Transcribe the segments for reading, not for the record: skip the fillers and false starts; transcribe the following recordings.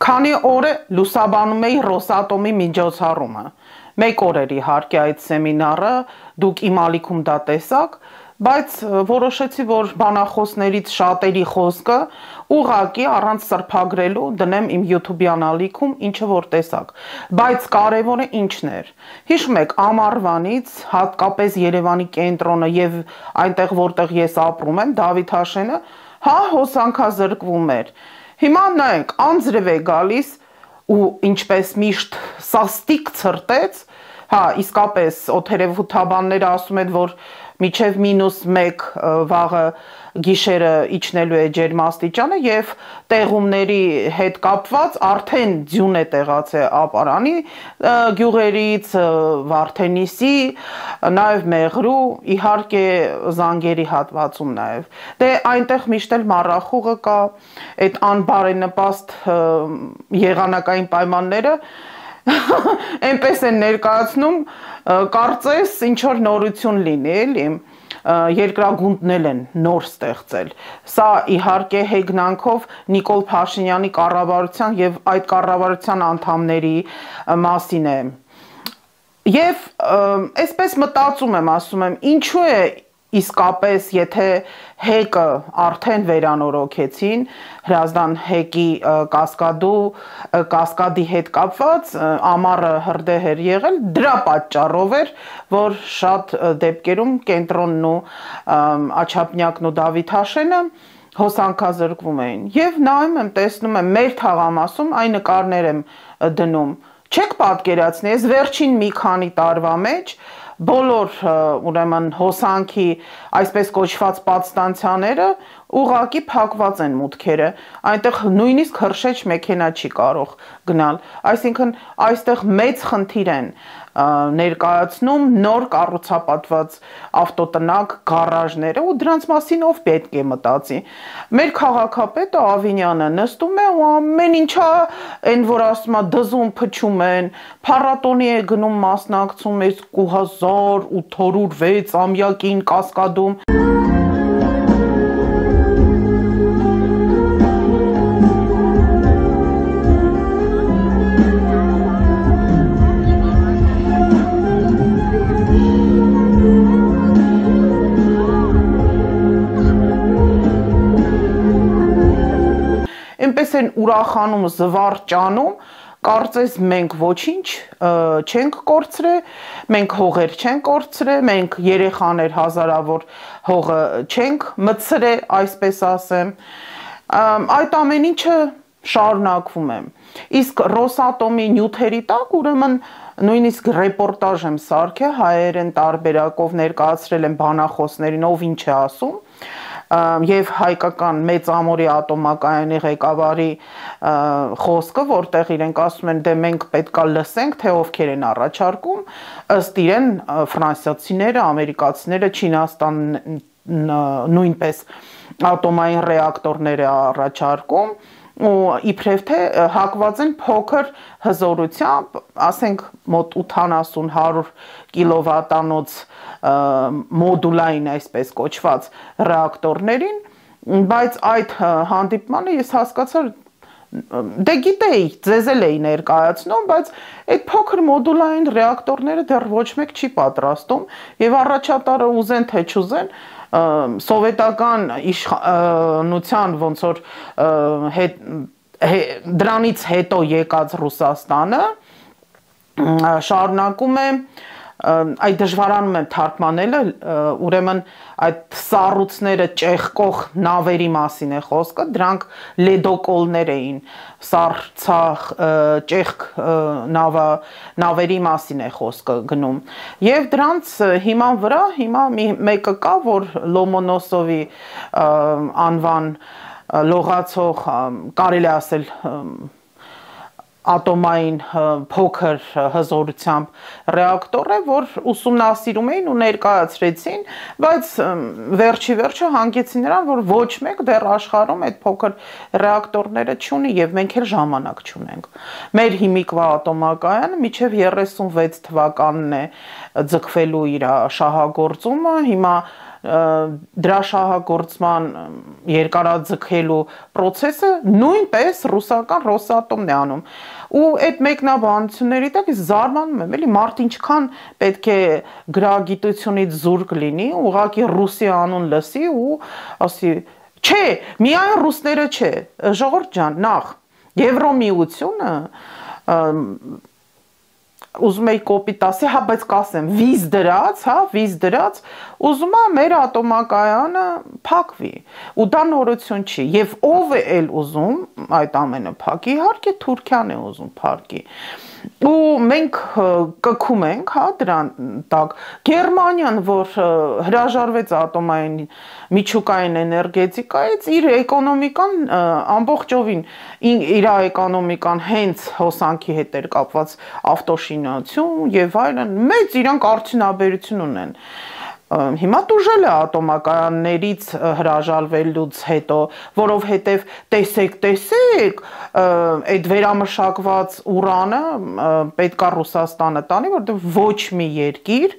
Քանի օր է լուսաբանում էի Ռոսատոմի միջոցառումը։ Մեկ օր էր իհարկե այդ սեմինարը, դուք իմ ալիքում դա տեսաք, բայց որոշեցի, որ բանախոսներից շատերի խոսքը ուղղակի առանց սրբագրելու դնեմ իմ YouTube-յան ալիքում, ինչը որ տեսաք։ Բայց կարևորը ինչն էր։ Հիշում եք, ամառվանից հատկապես Երևանի կենտրոնը եւ այնտեղ, որտեղ ես ապրում եմ, Դավիթաշենը, հոսանքազրկվում էր։ Հիմա նայեք, անձրև է գալիս ու ինչպես միշտ սաստիկ ցրտեց, իսկապես օդերևութաբանները ասում են, որ միջև -1 վաղը գիշերը իջնելու է ջերմաստիճանը եւ տեղումների հետ կապված արդեն ձյուն է տեղացել ապարանի գյուղերից, Վարդենիսի, նաեւ Մեղրու, իհարկե Զանգերի հատվածում նաեւ։ Դե այնտեղ միշտ էլ մառախուղը կա, այդ անբարենպաստ եղանակային պայմանները այնպես են ներկայացնում, կարծես ինչ որ նորություն լինի, էլի, երկրագունդն են նոր ստեղծել։ Սա իհարկե հեգնանքով Նիկոլ Փաշինյանի կառավարության եւ այդ կառավարության անդամների մասին է։ Եվ այսպես մտածում եմ, ասում եմ, ինչու է իսկապես, եթե հեկը արդեն վերանորոգեցին, Հրազդան հեկի կասկադի հետ կապված, ամառը հրդեհ էր եղել, դրա պատճառով էր, որ շատ դեպքերում կենտրոնն ու Աչափնյակն ու Դավիթաշենը հոսանքազրկվում էին։ Եվ նայում եմ, տեսնում եմ, մեր թաղամասում այն նկարներ եմ դնում։ Չեք պատկերացնի, ես վերջին մի քանի տարվա մեջ բոլոր ուրեմն հոսանքի այսպես կոչված պատստանցիաները ուղղակի փակված են մուտքերը, այնտեղ նույնիսկ հրշեջ մեքենա չի կարող գնալ, այսինքն այստեղ մեծ խնդիր են ներկայացնում նոր կառուցապատված ավտոտնակ գարաժները ու դրանց մասին ով պետք է մտածի։ Մեր քաղաքապետը Ավինյանը նստում է ու ամեն ինչա այն որ ասում է դզում փչում են, փառատոնի է գնում մասնակցում 2806 ամյակին Կասկադում։ Այնպես են ուրախանում, զվարճանում, կարծես մենք ոչինչ չենք կորցրել, մենք հողեր չենք կորցրել, մենք երեխաներ հազարավոր հողը չենք մտցրել, այսպես ասեմ։ Այդ ամեն ինչը շարունակվում է։ Իսկ Ռոսատոմի նյութերի տակ ուրեմն նույնիսկ ռեպորտաժ եմ սարքել, հայերեն տարբերակով ներկայացրել եմ բանախոսներին, ով ինչ է ասում։ Եվ հայկական մեծամորի ատոմակայանի ղեկավարի խոսքը, որտեղ իրենք ասում են, դե մենք պետքա լսենք, թե ովքեր են առաջարկում, ըստ իրեն ֆրանսիացիները, ամերիկացիները, Չինաստանն նույնպես ատոմային ռեակտորներ է առաջարկում ու իբրև թե հակված են փոքր հզորությամբ, ասենք մոտ 80-100 կիլովատանոց մոդուլային այսպես կոչված ռեակտորներին, բայց այդ հանդիպմանը ես հասկացա, դե գիտեի, ձեզ էլ էի ներկայացնում, բայց այդ փոքր մոդուլային ռեակտորները դեռ ոչ մեկ չի պատրաստում եւ առաջատարը ուզեն թե չուզեն սովետական իշխանության ոնց որ դրանից հետո եկած Ռուսաստանը շարունակում է այդ դժվարանում եմ թարգմանելը, ուրեմն այդ սառույցները ճեղքող նավերի մասին է խոսքը, դրանք լեդոկոլներ էին, սառցախ ճեղք նավերի մասին է խոսքը գնում։ Եվ դրանց հիման վրա հիմա մեկը կա, որ Լոմոնոսովի անվան լողացող, կարելի ասել ատոմային փոքր հզորությամբ ռեակտոր է, որ ուսումնասիրում էին ու ներկայացրեցին, բայց վերջի վերջը հանգեցին նրան, որ ոչ մեկ դեռ աշխարհում այդ փոքր ռեակտորները չունի եւ մենք էլ ժամանակ չունենք։ Մեր հիմիկվա ատոմակայանը մինչեւ 36 թվականն է ձգվելու իր շահագործումը, հիմա դրա շահագործման երկարաձգելու process-ը նույնպես ռուսական Ռոսատոմն է անում։ Ու այդ մեկնաբանությունների տակ ես զարմանում եմ, էլի մարդ ինչքան պետք է գրագիտությունից զուրկ լինի, ուղղակի ռուսի անուն լսի ու ասի, չէ, միայն ռուսները չէ, ժողովուրդ ջան, նախ Եվրոմիությունը ուզում էի կոպիտ ասի, հա, բայց կասեմ, վիզ դրած, ուզում է մեր ատոմակայանը փակվի, ու դա նորություն չի, եւ ով է էլ ուզում այդ ամենը փակի, իհարկե Թուրքիան է ուզում փակի, ու մենք կքում ենք, հա, դրան տակ, Գերմանիան, որ հրաժարվեց ատոմային միջուկային էներգետիկայից, իր էկոնոմիկան ամբողջովին, իր էկոնոմիկան հենց հոսանքի հետ էր կապված ավտոշինություն եւ այլն, մեծ իրանք արդյունաբերություն ունեն։ Հիմա տուժել է ատոմակայաններից հրաժարվելուց հետո, որովհետև տեսեք, այդ վերամշակված ուրանը պետք է Ռուսաստանը տանի, որտեղ ոչ մի երկիր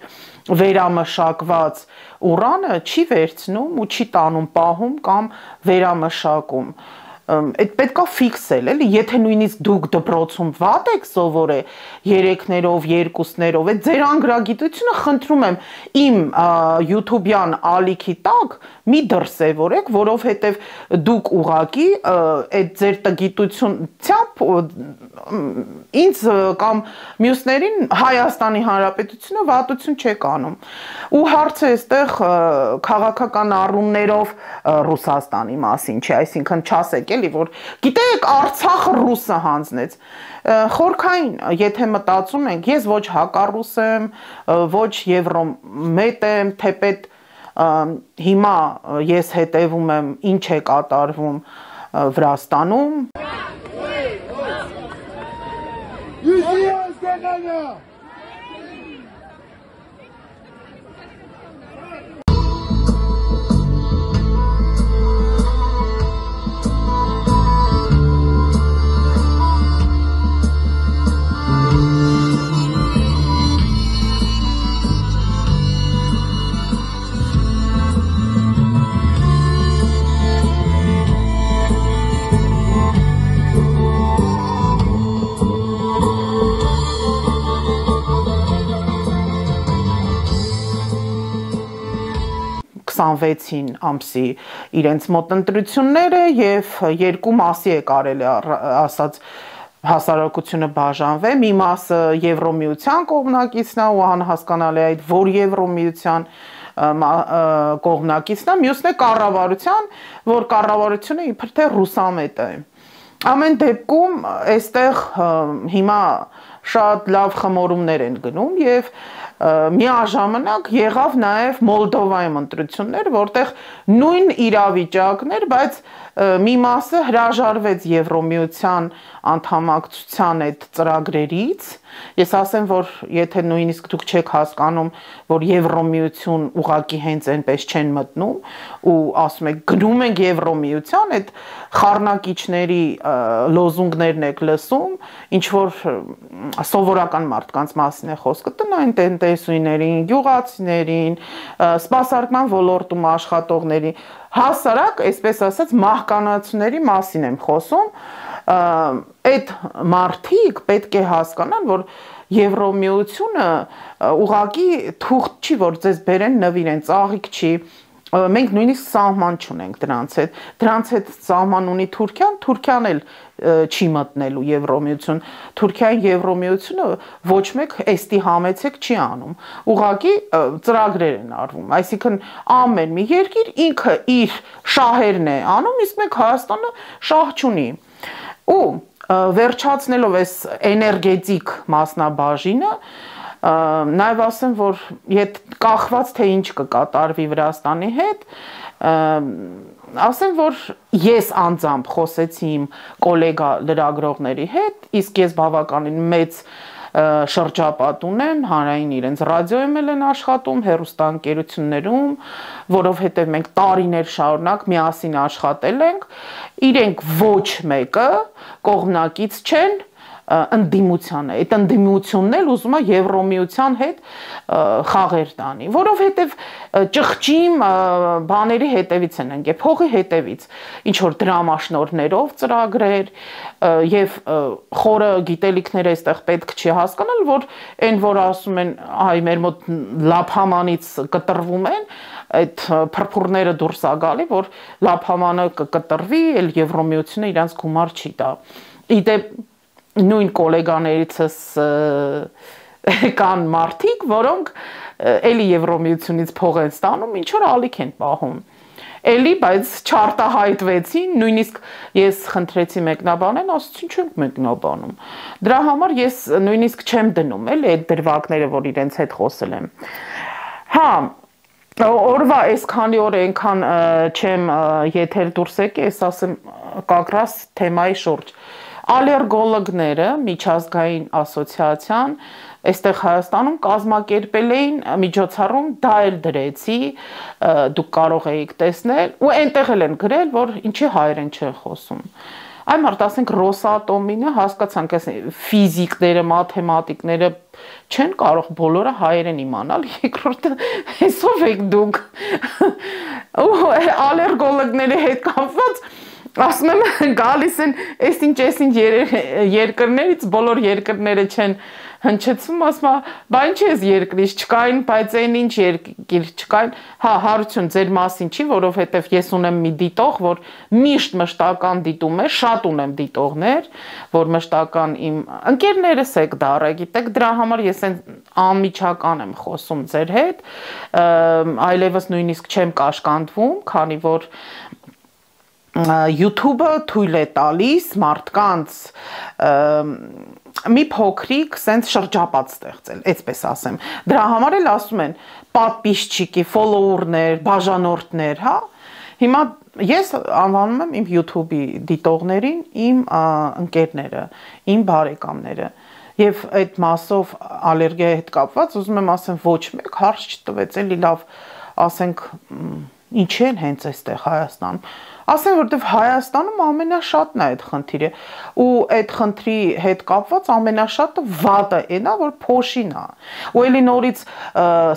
վերամշակված ուրանը չի վերցնում ու չի տանում պահում կամ վերամշակում։ Այդ պետքա ֆիքսել, էլի, եթե նույնիսկ դուք դպրոցում վատ եք սովորել 3-ներով, 2-ներով, այդ ձեր անգրագիտությունը խնդրում եմ իմ YouTube-յան ալիքի տակ մի դրսևորեք, որովհետև դուք ուղակի այդ ձեր տգիտությունությամբ ինձ կամ մյուսներին Հայաստանի Հանրապետությունը վատություն չեք անում։ Ու հարցը այստեղ քաղաքական առումներով Ռուսաստանի մասին չէ, այսինքն չասեք էլի, որ գիտեք Արցախը ռուսը հանձնեց։ Խորքային, եթե մտածում ենք, ես ոչ հակառուս եմ, ոչ եվրոմետ եմ, թեպետ հիմա ես հետևում եմ ինչ է կատարվում Վրաստանում։ ամսի իրենց մոտ ընտրությունները եւ երկու մասի է կարելի ասած հասարակությունը բաժանվել, մի մասը Եվրոմիության կողմնակիցն է ու անհասկանալի է այդ որ Եվրոմիության կողմնակիցն է, մյուսն է կառավարության, որ կառավարությունը իբր թե ռուսամետ է։ Ամեն դեպքում այստեղ հիմա շատ լավ խմորումներ են գնում եւ միաժամանակ եղավ նաև Մոլդովայում ընտրություններ, որտեղ նույն իրավիճակներ, բայց մի մասը հրաժարվեց Եվրոմիության անդամակցության այդ ծրագրերից։ Ես ասեմ, որ եթե նույնիսկ դուք չեք հասկանում, որ Եվրոմիություն ուղղակի հենց այնպես չեն մտնում ու ասում եք գնում ենք Եվրոմիության, այդ խառնակիչների լոզունգներն եք լսում, ինչ որ սովորական մարդկանց մասին է խոսքը, տնային տնտեսուհիներին, գյուղացիներին, սպասարկման ոլորտում աշխատողների, հասարակ, այսպես ասած, մահկանացուների մասին եմ խոսում, այդ մարդիկ պետք է հասկանան, որ Եվրոմիությունը ուղղակի թուղթ չի, որ ձեզ բերեն նվիրեն, ծաղիկ չի, մենք նույնիսկ սահման չունենք դրանց հետ սահման ունի Թուրքիան, Թուրքիան էլ չի մտնելու Եվրոմիություն, Թուրքիայի Եվրոմիությունը ոչ մեկ էստի համեցեք չի անում, ուղղակի ծրագրեր են արվում, այսինքն ամեն մի երկիր ինքը իր շահերն է անում, իսկ մենք Հայաստանը շահ չունի, ու վերջացնելով այս էներգետիկ մասնաբաժինը, նաև ասեմ, որ կախված թե ինչ կկատարվի Վրաստանի հետ, ասեմ, որ ես անձամբ խոսեցի իմ կոլեգա լրագրողների հետ, իսկ ես բավականին մեծ շրջապատ ունեմ, հանրային իրենց ռադիոյում են աշխատում, հեռուստաընկերություններում, որովհետև մենք տարիներ շարունակ միասին աշխատել ենք, իրենք ոչ մեկը կողմնակից չեն ընդդիմության է, այդ ընդդիմությունն էլ ուզում է Եվրոմիության հետ խաղեր տանի, որովհետև ճղճիմ բաների հետևից են ընկել, փողի հետևից, ինչ որ դրամաշնորհներով ծրագրեր եւ խորը գիտելիքները այստեղ պետք չի հասկանալ, որ այն որ ասում են, այ մեր մոտ լափամանից կտրվում են, այդ փրփուրները դուրս է գալի, որ լափամանը կկտրվի, էլ Եվրոմիությունը իրանց գումար չի տա։ Իդեպ նույն գոլեգաներիցս կան մարդիկ, որոնք էլի Եվրոմիությունից փող են ստանում, ինչ որ ալիք են պահում։ Էլի, բայց չարտահայտվեցին, նույնիսկ ես խնդրեցի մեկնաբանեն, ասացին չենք մեկնաբանում։ Դրա համար ես նույնիսկ չեմ դնում, էլի այդ դրվագները, որ իրենց հետ խոսել եմ։ Հա, օրվա այսքանի օր այնքան չեմ եթեր դուրս եկի, ես ասեմ կակրաս թեմայի շուրջ։ Ալերգոլոգները միջազգային ասոցիացիան այստեղ Հայաստանում կազմակերպել էին միջոցառում, դա էլ դրեցի, դուք կարող եք տեսնել, ու այնտեղ էլ են գրել, որ ինչի հայերեն չեն խոսում։ Այ մարդ ասենք Ռոսատոմինը հասկացանք, այս ֆիզիկները, մաթեմատիկները չեն կարող բոլորը հայերեն իմանալ, երկրորդը հեսով եք դուք։ Ու ալերգոլոգների հետ կապված ասում եմ գալիս են այսինչ երկրներից բոլոր երկրները չեն հնչեցում, ասում եմ, բա ինչ ես երկրից չկային, բայց այն ինչ երկիր չկային, հա, հարություն ձեր մասին չի, որովհետև ես ունեմ մի դիտող, որ միշտ մշտական դիտում է, շատ ունեմ դիտողներ, որ մշտական իմ ընկերներս եք դառը, գիտեք, դրա համար ես անմիջական եմ խոսում ձեր հետ, այլևս նույնիսկ չեմ կաշկանդվում, քանի որ YouTube-ը թույլ է տալիս մարդկանց մի փոքրիկ սենց շրջապատ ստեղծել, այսպես ասեմ։ Դրա համար էլ ասում են պատպիսչիկի, ֆոլոուերներ, բաժանորդներ, հա։ Հիմա ես անվանում եմ իմ YouTube-ի դիտողներին իմ ընկերները, իմ բարեկամները։ Եվ այդ մասով ալերգիայի հետ կապված ուզում եմ ասեմ ոչ մեկ հարց չտվեց, էլի լավ, ասենք ինչ են հենց այստեղ Հայաստանում։ Ասեմ, որտեվ Հայաստանում ամենաշատն է այդ խնդիրը, ու այդ խնդրի հետ կապված ամենաշատը վատը էն է, որ փոշին է։ Ու էլի նորից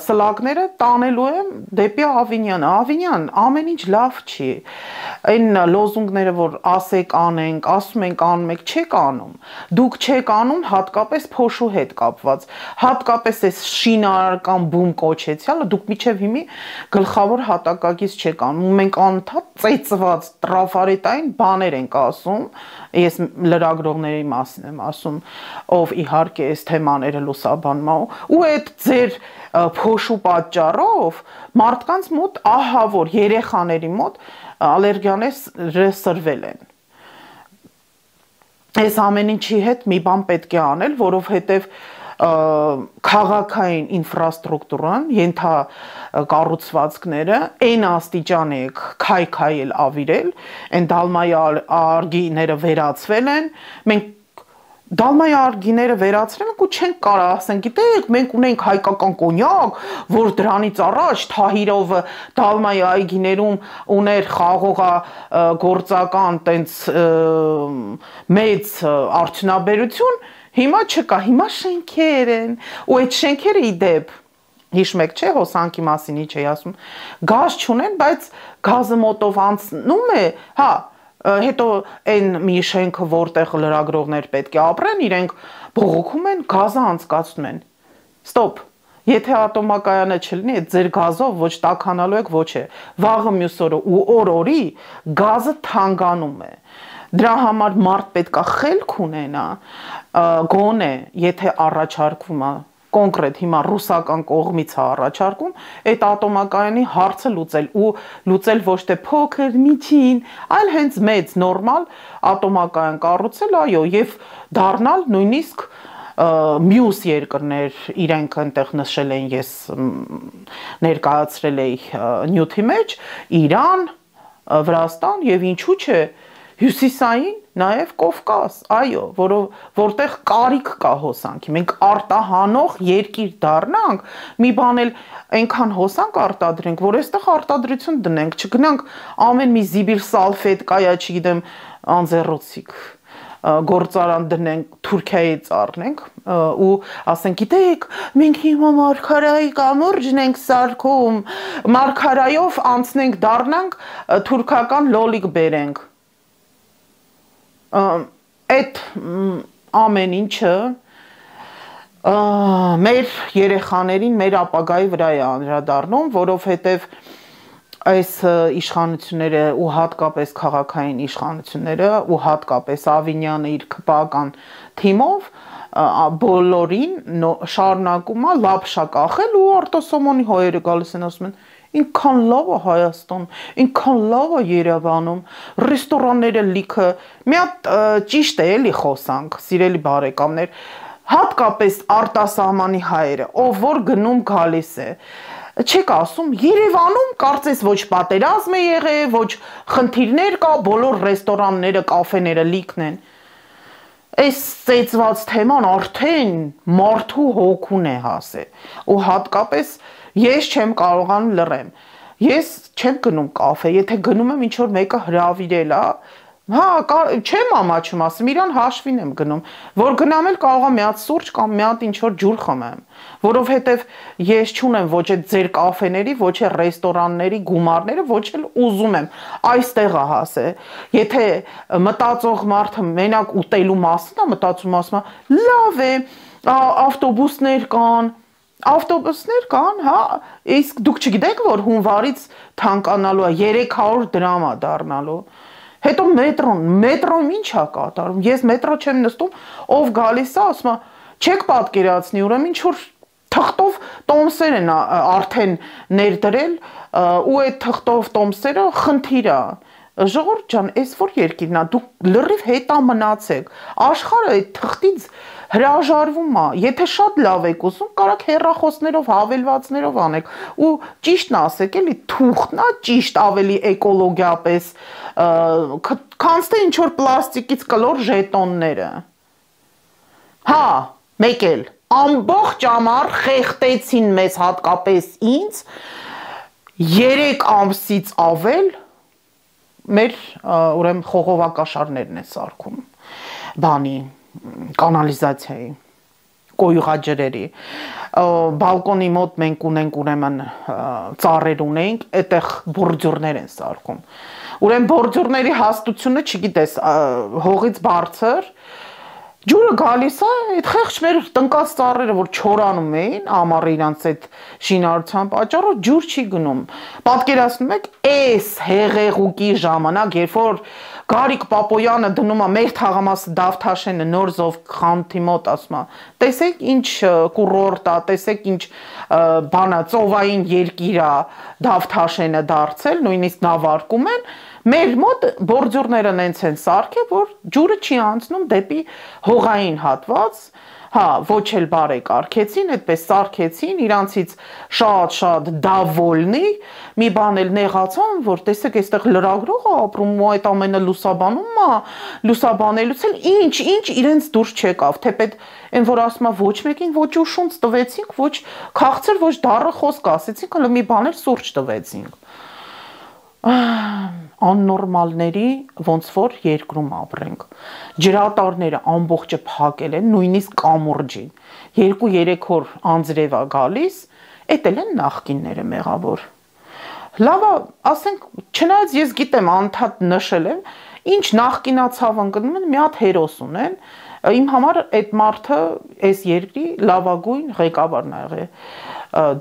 սլակները տանելու եմ դեպի Ավինյանը, Ավինյան, ամեն ինչ լավ չի։ Այն լոզունգները, որ ասեք անենք, ասում ենք անում եք, չեք անում։ Դուք չեք անում հատկապես փոշու հետ կապված, հատկապես այս շինարարական բում կոչեցյալը, դուք միջև հիմի գլխավոր հատակագից չեք անում, մենք անընդհատ ծեծված տրաֆարետային բաներ ենք ասում, ես լրագրողների մասին եմ ասում, ով իհարկե այս թեմաները լուսաբանում է, ու այդ ձեր փոշու պատճառով մարդկանց մոտ ահա որ երեխաների մոտ ալերգիաները սրվել են։ Այս ամեն ինչի հետ մի բան պետք է անել, որովհետև քաղաքային ինֆրաստրուկտուրան, ենթակառուցվածքները այն աստիճան է քայքայել ավիրել, այն դալմայի արգիները վերացվել են, մենք դալմայի արգիները վերացրել ենք ու չենք կարող ասենք, գիտեք, մենք ունենք հայկական կոնյակ, որ դրանից առաջ Թահիրովը դալմայի այգիներում ուներ խաղողագործական տենց մեծ արդյունաբերություն, հիմա չկա, հիմա շենքեր են, ու այդ շենքերը իդեպ, հիշում եք չէ, հոսանքի մասին ինչ էի ասում, գազ չունեն, բայց գազը մոտով անցնում է, հա, հետո այն մի շենքը, որտեղ լրագրողներ պետք է ապրեն, իրենք բողոքում են, գազը անցկացնում են, ստոպ, եթե ատոմակայանը չլինի, այդ ձեր գազով ոչ տաքանալու եք, ոչ է, վաղը մյուս օրը ու օր-օրի գազը թանկանում է, դրա համար մարդ պետք է խելք ունենա, գոնե, եթե առաջարկվում է, կոնկրետ հիմա ռուսական կողմից է առաջարկում, այդ ատոմակայանի հարցը լուծել ու լուծել ոչ թե փոքր, միջին, այլ հենց մեծ, նորմալ ատոմակայան կառուցել, այո, եւ դառնալ նույնիսկ մյուս երկրներ իրենք այնտեղ նշել են, ես ներկայացրել էի նյութի մեջ, Իրան, Վրաստան եւ ինչու՞ չէ Հյուսիսային նաև Կովկաս, այո, որտեղ կարիք կա հոսանքի, մենք արտահանող երկիր դառնանք, մի բան էլ այնքան հոսանք արտադրենք, որ այստեղ արտադրություն դնենք, չգնանք ամեն մի զիբիլ սալֆետ կայա, չգիտեմ, անձեռոցիկ, գործարան դնենք, Թուրքիայից առնենք ու ասենք, գիտեք, մենք հիմա մարգարայի կամուրջն ենք սարքում, մարգարայով անցնենք դառնանք թուրքական լոլիկ բերենք։ Այդ ամեն ինչը մեր երեխաներին, մեր ապագայի վրա է անդրադառնում, որովհետև այս իշխանությունները ու հատկապես քաղաքային իշխանությունները ու հատկապես Ավինյանը իր քպական թիմով բոլորին շարունակում է լապշա կախել ու Արտասոմոնի հայերը գալիս են ասում են ինքան լավ է Հայաստան, ինքան լավ է Երևանում, ռեստորանները լիքը, մի հատ ճիշտ է էլի խոսանք, սիրելի բարեկամներ, հատկապես արտասահմանի հայերը, ով որ գնում գալիս է, չեք ասում, Երևանում կարծես ոչ պատերազմ է եղել, ոչ խնդիրներ կա, բոլոր ռեստորանները, կաֆեները լիքն են։ Այս ծեծված թեման արդեն մարդու հոգուն է հասել, ու հատկապես ես չեմ կարողանում լռեմ, ես չեմ գնում կաֆե, եթե գնում եմ ինչ-որ մեկը հրավիրել է, հա, չեմ ամաչում ասում, իրան հաշվին եմ գնում, որ գնամ էլ կարող եմ մի հատ սուրճ կամ մի հատ ինչ-որ ջուր խմեմ, որովհետև ես չունեմ ոչ այդ ձեր կաֆեների, ոչ է ռեստորանների գումարները, ոչ էլ ուզում եմ այստեղ է հասել, եթե մտածող մարդը մենակ ուտելու մասին է մտածում, ասում է, լավ է, ավտոբուսներ կան, հա, իսկ դուք չգիտեք, որ հունվարից թանկանալու է 300 դրամ է դառնալու, հետո մետրոն ինչ է կատարում, ես մետրո չեմ նստում, ով գալիս է, ասում է, չեք պատկերացնի, ուրեմն ինչ-որ թղթով տոմսեր են արդեն ներդրել, ու այդ թղթով տոմսերը խնդիր է, ժողովուրդ ջան, այս որ երկիրն է, դուք լրիվ հետա մնացեք, աշխարհը այդ թղթից հրաժարվում է, եթե շատ լավ եք ուզում, կարաք հեռախոսներով, հավելվածներով անեք, ու ճիշտն ասեք, էլի թուղթն է ճիշտ ավելի էկոլոգիապես, քան թե ինչ-որ պլաստիկից կլոր ժետոնները։ Հա, մեկ էլ, ամբողջ ամառ խեղտեցին մեզ հատկապես ինձ, 3 ամսից ավել մեր ուրեմն խողովակաշարներն է սարքում, բանի, կանալիզացիայի, կոյուղաջրերի, բալկոնի մոտ մենք ունենք ուրեմն ծառեր ունենք, այդտեղ բորջուրներ են սարքում, ուրեմն բորջուրների հաստությունը չգիտես, հողից բարձր, ջուրը գալիս է, այդ խեղճ մեր տնկած ծառերը, որ չորանում էին, ամառը իրանց այդ շինարարության պատճառով ջուր չի գնում, պատկերացնում եք, այս հեղեղուկի ժամանակ, երբ որ Գարիկ Պապոյանը դնում է մեր թաղամասը Դավթաշենը Նորզով խանութի մոտ ասում է, տեսեք ինչ կուրորտ է, տեսեք ինչ բանա ծովային երկիր է Դավթաշենը դարձել, նույնիսկ նավարկում են, մեր մոտ բորջուրները նենց են սարքել, որ ջուրը չի անցնում դեպի հողային հատված, հա, ոչ էլ բարեկարգեցին, այդպես սարքեցին, իրանցից շատ դավոլնի, մի բան էլ նեղացան, որ տեսեք, այստեղ լրագրող է ապրում ու այդ ամենը լուսաբանում է, լուսաբանելուց էլ ինչ իրենց դուրս չեկավ, թեպետ այն որ ասում է ոչ մեկին ոչ ուշունց տվեցինք, ոչ քաղցր, ոչ դառը խոսք ասեցինք, հələ մի բան էլ սուրճ տվեցինք։ Աննորմալների ոնց որ երկրում ապրենք, ջրատարները ամբողջը փակել են, նույնիսկ կամուրջին, 2-3 օր անձրև է գալիս, էդ էլ են նախկինները մեղավոր, լավ է, ասենք, չնայած ես գիտեմ, անդադ նշել եմ, ինչ նախկինացավ ընկնում են, մի հատ հերոս ունեն, իմ համար այդ մարդը այս երկրի լավագույն ղեկավարն ա եղել,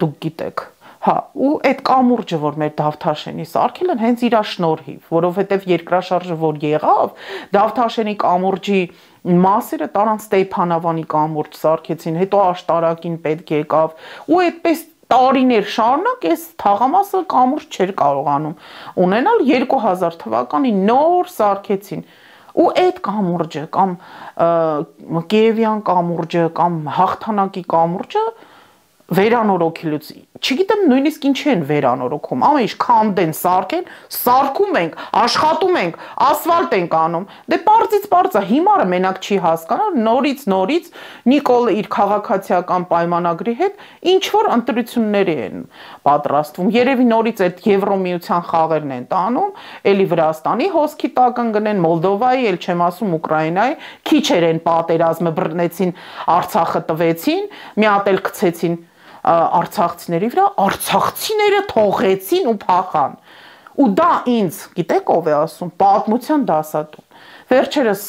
դուք գիտեք, հա, ու այդ կամուրջը, որ մեր Դավթաշենի սարքել են, հենց իրա շնորհիվ, որովհետև երկրաշարժը, որ եղավ, Դավթաշենի կամուրջի մասերը տարան Ստեփանավանի կամուրջ սարքեցին, հետո աշտարակին պետք եկավ, ու այդպես տարիներ շարունակ այս թաղամասը կամուրջ չէր կարողանում ունենալ, 2000 թվականին նոր սարքեցին, ու այդ կամուրջը, կամ Կիևյան կամուրջը, կամ Հաղթանակի կամուրջը վերանորոգելուց չգիտեմ նույնիսկ ինչի են վերանորոգում, ամեն ինչ քանդեն, սարքեն, սարքում ենք, աշխատում ենք, ասֆալտ ենք անում։ Դե պարզից պարզ է, հիմարը մենակ չի հասկանա, նորից Նիկոլը իր քաղաքացիական պայմանագրի հետ ինչ որ ընտրությունների են պատրաստվում։ Երևի նորից այդ Եվրոմիության խաղերն են տանում, էլի Վրաստանի հոսքի տակ ընկնեն, Մոլդովայի, էլ չեմ ասում Ուկրաինայի, քիչեր են պատերազմը բռնեցին, Արցախը տվեցին, մի հատ էլ գցեցին արցախցիների վրա, արցախցիները թողեցին ու փախան։ Ու դա ինձ, գիտեք ով է ասում, պատմության դասատուն։ Վերջերս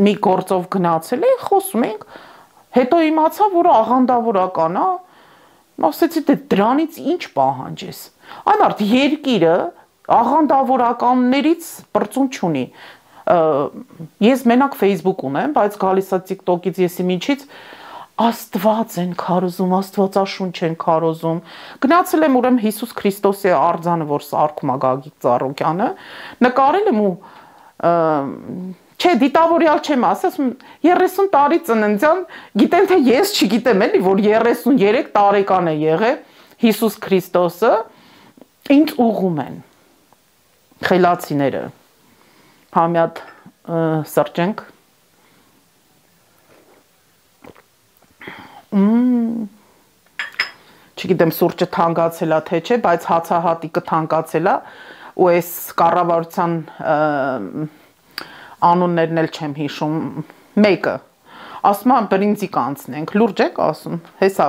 մի գործով գնացել էի, խոսում ենք, հետո իմացա, որ աղանդավորական է, ասեցի դե դրանից ինչ պահանջ ես։ Այն արդ երկիրը աղանդավորականներից բրծում չունի։ Ես մենակ Facebook ունեմ, բայց գալիս է TikTok-ից եսի միջից Աստված են քարոզում, Աստվածաշունչ են քարոզում։ Գնացել եմ ուրեմն Հիսուս Քրիստոսի արձանը, որ սարքում է Գագիկ Ծառուկյանը, նկարել եմ ու չէ, դիտավորյալ չեմ ասում, 30 տարի ծննդյան, գիտեմ թե ես չգիտեմ էլի, որ 33 տարեկան է եղել Հիսուս Քրիստոսը, ինձ ուղում են խելացիները։ Համյատ սրճենք։ Չգիտեմ սուրճը թանկացել է թե չէ, բայց հացահատիկը թանկացել է ու այս կառավարության անուններն էլ չեմ հիշում, մեկը ասում է բրինձի կանցնենք, լուրջ եք ասում, հեսա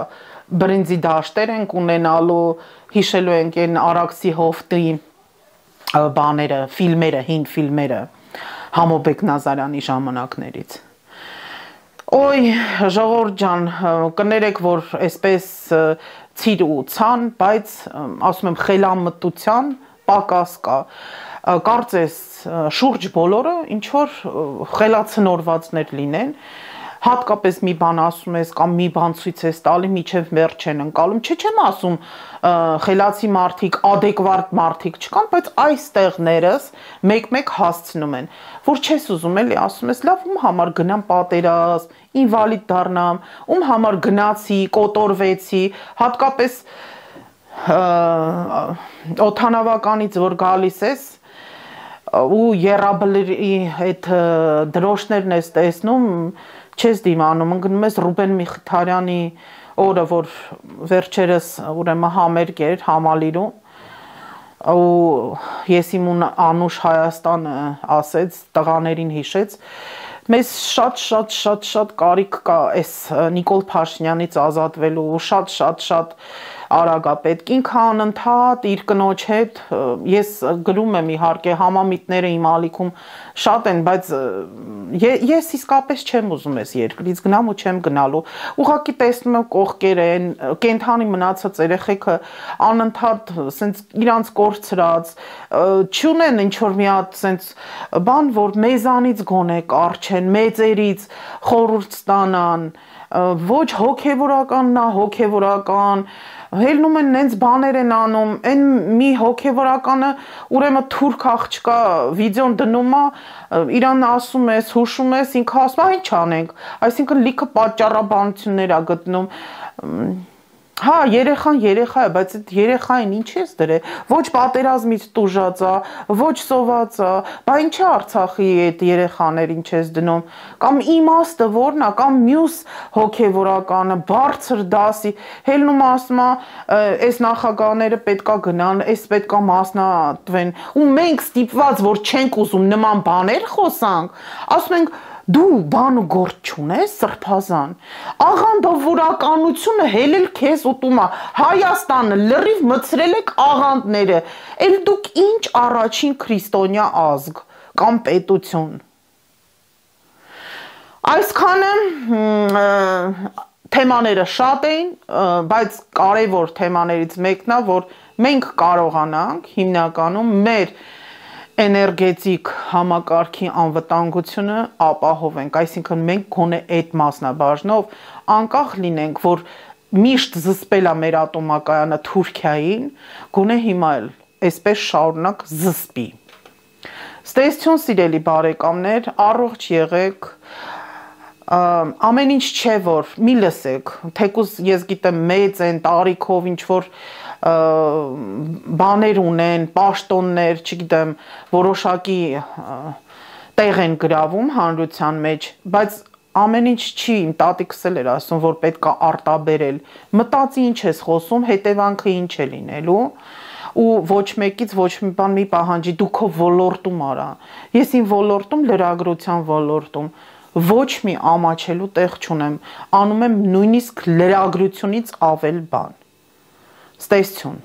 բրինձի դաշտեր ենք ունենալու, հիշելու ենք այն Արաքսի հովտի բաները, ֆիլմերը, հին ֆիլմերը Համոբեկ Նազարյանի ժամանակներից։ Ոյ, ժողովուրդ ջան, կներեք, որ այսպես ցիր ու ցան, բայց ասում եմ խելամտության պակաս կա։ Կարծես շուրջ բոլորը ինչ որ խելացնորվածներ լինեն, հատկապես մի բան ասում ես կամ մի բան ցույց ես տալի, միջև վերջ չեն ընկալում, չեմ ասում խելացի մարդիկ, adekvat մարդիկ չկան, բայց այստեղներս մեկ-մեկ հասցնում են, որ չես ուզում էլի, ասում ես լավ, ում համար գնամ պատերազմ, ինվալիդ դառնամ, ում համար գնացի, կոտորվեցի, հատկապես օդանավականից որ գալիս ես ու երաբլի այդ դրոշներն ես տեսնում, չես դիմանում, ընկնում ես Ռուբեն Միխիթարյանի օրը, որ վերջերս ուրեմն համերգ էր Համալիրում, ու ես իմ անուշ Հայաստանը ասեց, տղաներին հիշեց, մեզ շատ կարիք կա այս Նիկոլ Փաշինյանից ազատվելու, շատ արագ է պետք, ինքը անընդհատ իր կնոջ հետ, ես գրում եմ իհարկե համամիտները իմ ալիքում շատ են, բայց ես իսկապես չեմ ուզում ես երկրից գնամ ու չեմ գնալու, ուղղակի տեսնում եմ կողքերը են, կենթանի մնացած երեխեքը անընդհատ սենց իրանց կորցրած, չունեն ինչ-որ մի հատ սենց բան, որ մեզանից գոնե կարչեն, մեծերից խորհուրդ ստանան, ոչ հոգևորականն է, հոգևորական, հելնում են նենց բաներ են անում, են մի հոգևորականը ուրեմն թուրք աղջկա վիդեոն դնում է, իրան ասում ես, հուշում ես, ինքը ասում է, ինչ անենք, այսինքն լիքը պատճառաբանություններ է գտնում, հա, երեխան երեխա է, բայց այդ երեխային ինչ ես դրել, ոչ պատերազմից տուժած է, ոչ սոված է, բա ինչ է Արցախի այդ երեխաներին չես դնում, կամ իմաստը որն է, կամ մյուս հոգևորականը, բարձր դասի, հելնում ասում է, այս նախագահները պետքա գնան, այս պետքա մասնատվեն, ու մենք ստիպված, որ չենք ուզում նման բաներ խոսանք, ասում ենք, դու բան ու գործ չունես, սրբազան, աղանդավորականությունը հելել քեզ ուտում է, Հայաստանը լրիվ մցրել եք աղանդները, էլ դուք ինչ առաջին քրիստոնյա ազգ կամ պետություն։ Այսքանը թեմաները շատ էին, բայց կարևոր թեմաներից մեկն է, որ մենք կարողանանք հիմնականում մեր էներգետիկ համակարգի անվտանգությունը ապահովենք, այսինքն մենք գոնե այդ մասնաբաժնով անկախ լինենք, որ միշտ զսպել է մեր ատոմակայանը Թուրքիային, գոնե հիմա էլ այսպես շարունակ զսպի։ Ստեսություն սիրելի բարեկամներ, առողջ եղեք, ամեն ինչ չէ որ մի լսեք, թեկուզ ես գիտեմ մեծ են տարիքով ինչ որ բաներ ունեն, պաշտոններ, չգիտեմ, որոշակի տեղ են գրավում հանրության մեջ, բայց ամեն ինչ չի, իմ տատիկս էլ էր ասում, որ պետք է արտաբերել, մտածի ինչ ես խոսում, հետևանքը ինչ է լինելու, ու ոչ մեկից ոչ մի բան մի պահանջի, դու քո ոլորտում արա, ես իմ ոլորտում, լրագրության ոլորտում, ոչ մի ամաչելու տեղ չունեմ, անում եմ նույնիսկ լրագրությունից ավել բան, ստեսություն